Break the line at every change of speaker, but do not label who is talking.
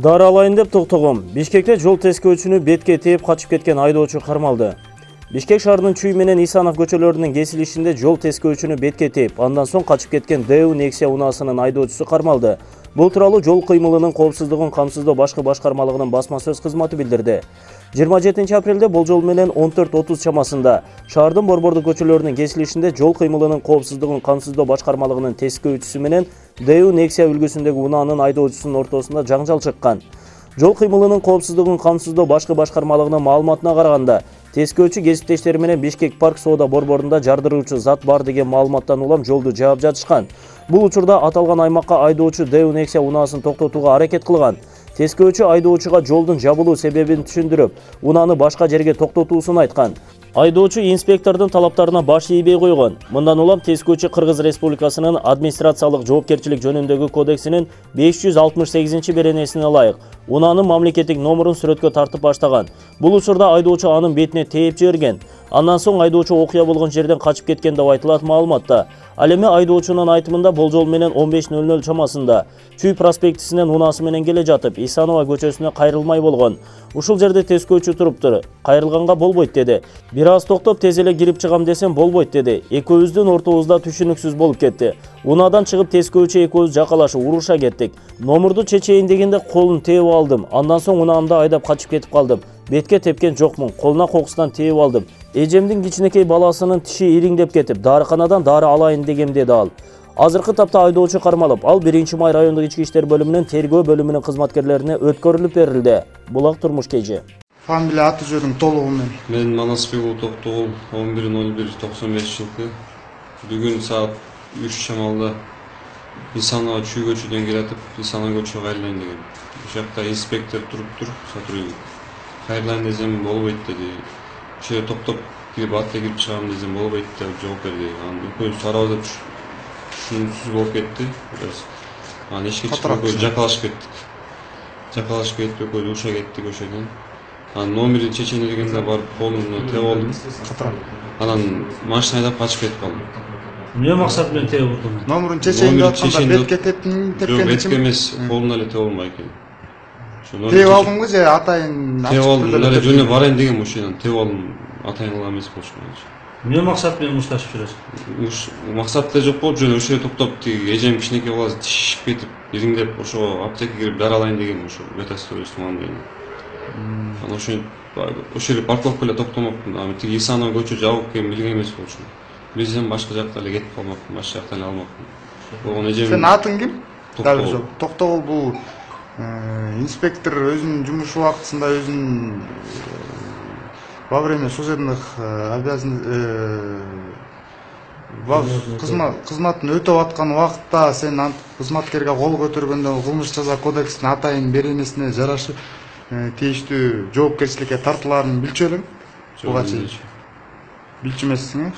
Дары алайын деп токтогом. Бишкекте жол тескөөчүнү бетке тээп качып кеткен айдоочу кармалды. Бишкек шаарынын Чүй менен Исанов көчөлөрүнүн кесилишинде жол тескөөчүнү бетке тээп, андан соң качып кеткен ДУ Nexia унаасынын айдоочусу кармалды. Бул тууралуу жол кыймылынын коопсуздугун камсыздоо башкы башкармалыгынын басма сөз кызматы билдирди. 27 апрелде болжол менен 14:30 чамасында шаардын борбордук көчөлөрүнүн кесилишинде жол кыймылынын коопсуздугун камсыздоо башкармалыгынын тескөөчүсү менен ДУ Nexia үлгүсүндөгү унаанын айдоочусунун ортосунда жаңжал чыккан. Жол кыймылынын коопсуздугун камсыздоо башкы башкармалыгынын маалыматына караганда, тескөөчү кесиптештери менен Бишкек парк соода борборунда жардыруучу зат бар деген маалыматтан улам жолду жаап жатышкан. Бул учурда аталган аймакка айдоочу ДУ Nexia унаасын токтотууга аракет кылган. Тескөөчү айдоочуга жолдун жабылуу себебин түшүндүрүп, унааны башка жерге токтотуусун айткан. Айдоочу инспектордун талаптарына баш ийбей койгон. Мындан улам тескөөчү Кыргыз Республикасынын администрациялык жоопкерчилик жөнүндөгү кодексинин 568 беренесине ылайык унаанын мамлекеттик номурун сүрөткө тартып баштаган. Бул учурда айдоочу анын бетине тээп жиберген. Андан соң айдоочу окуя болгон жерден качып кеткен деп айтылат маалыматта. Ал эми айдоочунун айтымында болжол менен 15:00 чамасында Чүй проспектисинен унаасы менен келе жатып, Исанова көчөсүнө кайрылмай болгон. Ушул жерде тескөөчү туруптур. Кайрылганга болбойт деди. Бир аз токтоп тез эле кирип чыгам десем болбойт деди. Экөөбүздүн ортобузда түшүнүксүз болуп кетти. Унаадан чыгып тескөөчү экөөбүз жакалашып уруша кеттик. Номурду чечейин дегенде колун тээп алдым. Андан соң унаамды айдап качып кетип калдым. Бетке тепкен жокмун. Колуна кокустан тээп алдым. Эжемдин кичинекей баласынын тиши ириңдеп кетип, дарыканадан дары алайын дегем деди ал. Азыркы тапта айдоочу кармалып, ал 1-май райондук ички иштер бөлүмүнүн тергөө бөлүмүнүн кызматкерлерине өткөрүлүп берилди. Булак Турмуш KG.
Фамилия аты жөнүң толугу менен?
Мен Манасбеков Токтогул, 11.01.95 жылкы. Бүгүн саат 3 чамалда Исанова Чүй көчөдөн келатып, Исанова көчөгө кайрылайын деген. Ошол жакта инспектор туруптур, сотрудник. Кайрылайын десем болбойт деди. Ошол жерде токтоп кирип атка кирип чыгам десем болбойт деп жооп берди. Анан экөөбүз карабыз деп түшүнүксүз болуп кетти. Анан эшикке чыгып жакалашып кеттик. Жакалашып кетип экөөбүз уруша кеттик ошодон. Анан номерди чечейин дегенде барып колумду тээп алдым. Анан машина айдап качып кетип калдым.
Эмне максат менен тээп алдың?
Номерин чечейин деп атканда бетке тепкен
Жок, бетке эмес, колуна эле тээп албай экен.
Тээп алдымбы же атайын
тээп алдым, эле жөнүп барайын дегем ошондон тээп алдым. Атайын кыла эмес болчумун.
Эмне максат менен мушташып жүрөсүң?
Максат деле жок болуп, жөн ошол жерде токтоп, эжем кичинекей баласы тишип кетип, ириңдеп, ошого аптекага кирип дары алайын дегем, ошо ветостойчу мамилени. Анан ошол жерде парковка эле токтомокмун. Анан тиги Исанова көчө жабык экенин билген эмес болчумун. Билсем башка жакка эле кетип калмакмын, башка жактан эле алмакмын. Болгон эжем.
Сен атың ким? Токтогул бул инспектор өзүнүн жумуш убактысында өзүнүн во время служебных кызматын өтөп аткан убакытта сен кызматкерге кол көтөргөндө кылмыш жаза кодексинин атайын беренесине жарашып тийиштүү жоопкерчиликке тартылаарын билчү элең? Буга чейин билчү эмессиң, э?